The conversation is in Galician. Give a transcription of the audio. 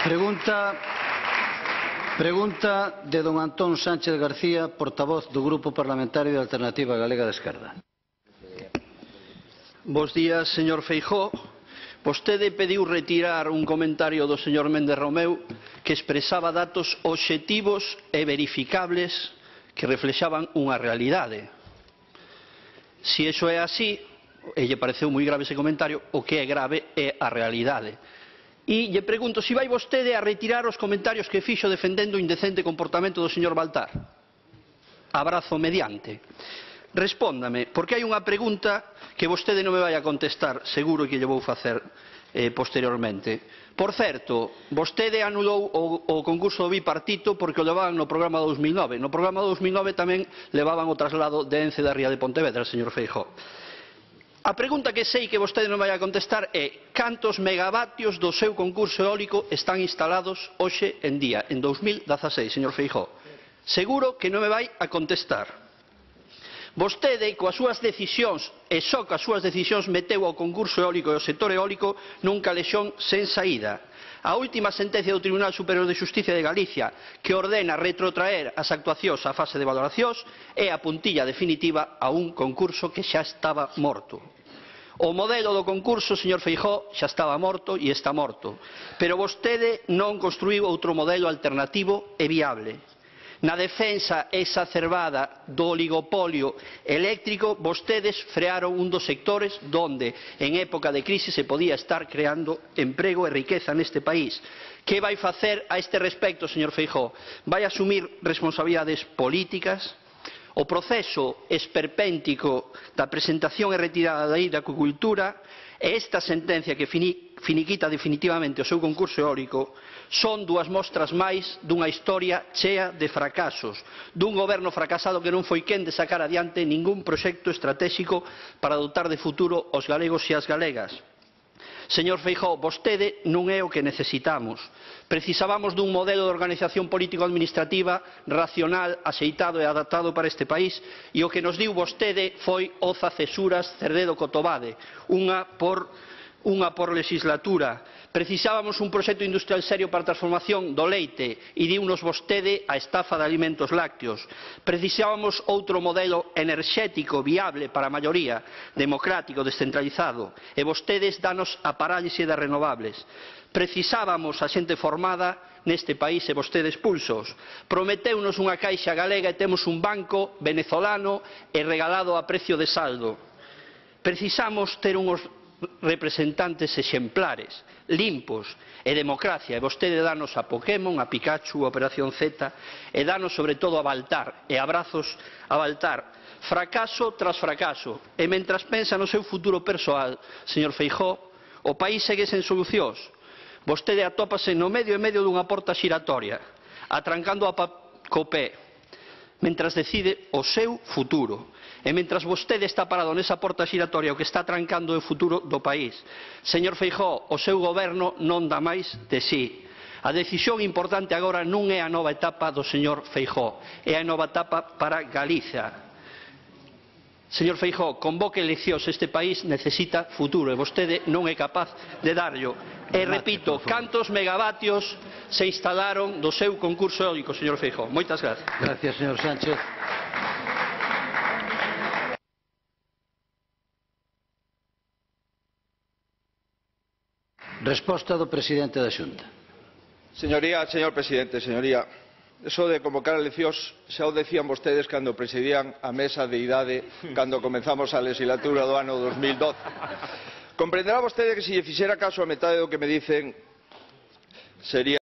Pregunta de don Antón Sánchez García, portavoz do Grupo Parlamentario de Alternativa Galega de Esquerda. Bos días, señor Feijóo. Vostede pediu retirar un comentario do señor Méndez Romeu que expresaba datos obxectivos e verificables que reflexaban unha realidade. Se iso é así, e lle pareceu moi grave ese comentario, o que é grave é a realidade. E lle pregunto se vai vostede a retirar os comentarios que fixo defendendo o indecente comportamento do señor Baltar. Abrazo mediante. Respóndame, porque hai unha pregunta que vostede non me vai a contestar, seguro que lle vou facer posteriormente. Por certo, vostede anulou o concurso do bipartito porque o levaban no programa 2009. No programa 2009 tamén levaban o traslado de Ence da Ría de Pontevedra, señor Feijóo. A pregunta que sei que vostede non vai a contestar é cantos megavatios do seu concurso eólico están instalados hoxe en día, en 2016, señor Feijóo. Seguro que non me vai a contestar. Vostede, coas súas decisións, e só coas súas decisións, meteu ao concurso eólico e ao sector eólico nun calexón sen saída. A última sentencia do Tribunal Superior de Xustiza de Galicia, que ordena retrotraer as actuacións á fase de valoracións, é a puntilla definitiva a un concurso que xa estaba morto. O modelo do concurso, señor Feijóo, xa estaba morto e está morto, pero vostede non construíu outro modelo alternativo e viable. Na defensa exacerbada do oligopolio eléctrico, vostedes frearon un dos sectores donde en época de crise se podía estar creando emprego e riqueza neste país. Que vai facer a este respecto, señor Feijóo? Vai asumir responsabilidades políticas? O proceso esperpéntico da presentación e retirada da lei de acuicultura e esta sentencia que finiquita definitivamente o seu concurso eólico son dúas mostras máis dunha historia chea de fracasos, dun goberno fracasado que non foi quen de sacar adiante ningún proxecto estratéxico para dotar de futuro os galegos e as galegas. Señor Feijóo, vostede non é o que necesitamos. Precisábamos dun modelo de organización político-administrativa racional, axeitado e adaptado para este país, e o que nos diu vostede foi oza cesuras Cerdedo Cotobade, unha por legislatura. Precisábamos un proxecto industrial serio para a transformación do leite e diunos vostede a estafa de alimentos lácteos. Precisábamos outro modelo enerxético viable para a maioría, democrático, descentralizado, e vostedes danos a parálise das renovables. Precisábamos a xente formada neste país e vostedes expulsos. Prometeunos unha caixa galega e temos un banco venezolano e regalado a precio de saldo. Precisamos ter uns representantes exemplares, limpos e democracia, e vostede danos a Pokémon, a Pikachu, a Operación Z, e danos sobre todo a Baltar, e abrazos a Baltar. Fracaso tras fracaso, e mentras pensa no seu futuro persoal, señor Feijóo, o país segue sen solucións. Vostede atópase no medio e medio dunha porta xiratoria, atrancando co pé, mentras decide o seu futuro. E mentras vostede está parado nesa porta xiratoria, o que está trancando o futuro do país. Señor Feijóo, o seu goberno non dá máis de si. A decisión importante agora non é a nova etapa do señor Feijóo, é a nova etapa para Galicia. Señor Feijóo, convoque eleccións, este país necesita futuro e vostede non é capaz de darllo. E repito, cantos megavatios se instalaron do seu concurso eólico, señor Feijóo? Moitas gracias. Gracias, señor Sánchez. Resposta do presidente da Xunta. Señoría, señor presidente, señoría, eso de convocar eleccións xa o decían vostedes cando presidían a mesa de idade cando comenzamos a legislatura do ano 2012. Comprenderá vostede que se lle fixera caso a metade do que me dicen sería